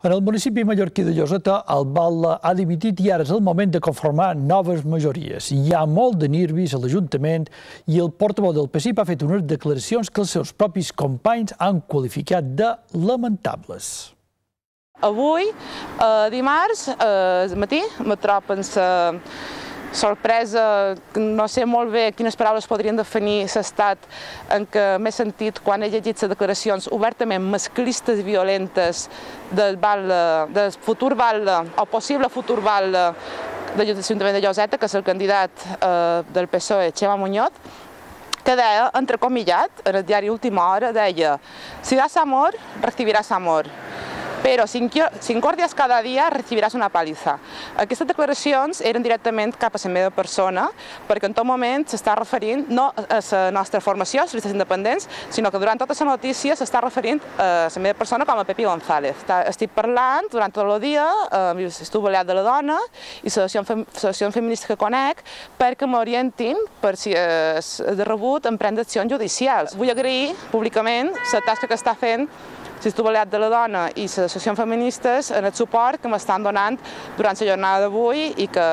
En el municipi mallorquí de Lloseta, el batlle ha dimitit i ara és el moment de conformar noves majories. Hi ha molt de nervis a l'Ajuntament i el portaveu del PSIP ha fet unes declaracions que els seus propis companys han qualificat de lamentables. Avui, dimarts, al matí, me trobo pensar sorpresa, no sé molt bé quines paraules podrien definir l'estat en què m'he sentit quan he llegit les declaracions obertament masclistes i violentes del futur batlle o possible futur batlle de l'Ajuntament de Lloseta, que és el candidat del PSOE, Txema Muñoz, que deia, entrecomillat, en el diari Última Hora, deia: si das amor, recibirás amor. Però si incordies cada dia, recibiràs una paliza. Aquestes declaracions eren directament cap a la meva persona, perquè en tot moment s'està referint no a la nostra formació, els independents, sinó que durant tota la notícia s'està referint a la meva persona com a Pepi González. Estic parlant durant tot el dia, estic aliat de la dona i l'associació feminista que conec perquè m'orientin per si és de rebut en prendre accions judicials. Vull agrair públicament la tasca que està fent l'Institut Balear de la Dona i les associacions feministes en el suport que m'estan donant durant la jornada d'avui i que,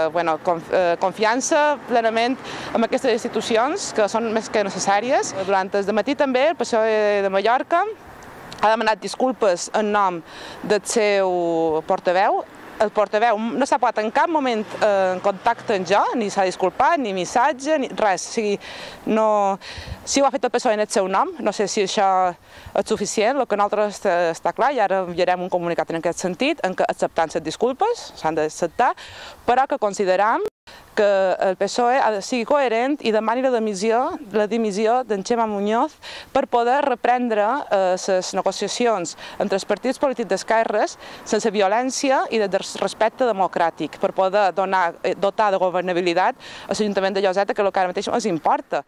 confiança plenament en aquestes institucions que són més que necessàries. Durant el matí també el PSOE de Mallorca ha demanat disculpes en nom del seu portaveu. El portaveu no s'ha posat en cap moment en contacte amb jo, ni s'ha disculpat, ni missatge, ni res. O sigui, si ho ha fet el PSOE en el seu nom, no sé si això és suficient. El que nosaltres està clar, i ara enviarem un comunicat en aquest sentit, en què acceptant les disculpes, s'han d'acceptar, però que consideram que el PSOE ha de ser coherent i demani la dimissió d'en Txema Muñoz per poder reprendre les negociacions entre els partits polítics d'esquerres sense violència i de respecte democràtic, per poder dotar de governabilitat a l'Ajuntament de Lloseta, que és el que ara mateix ens importa.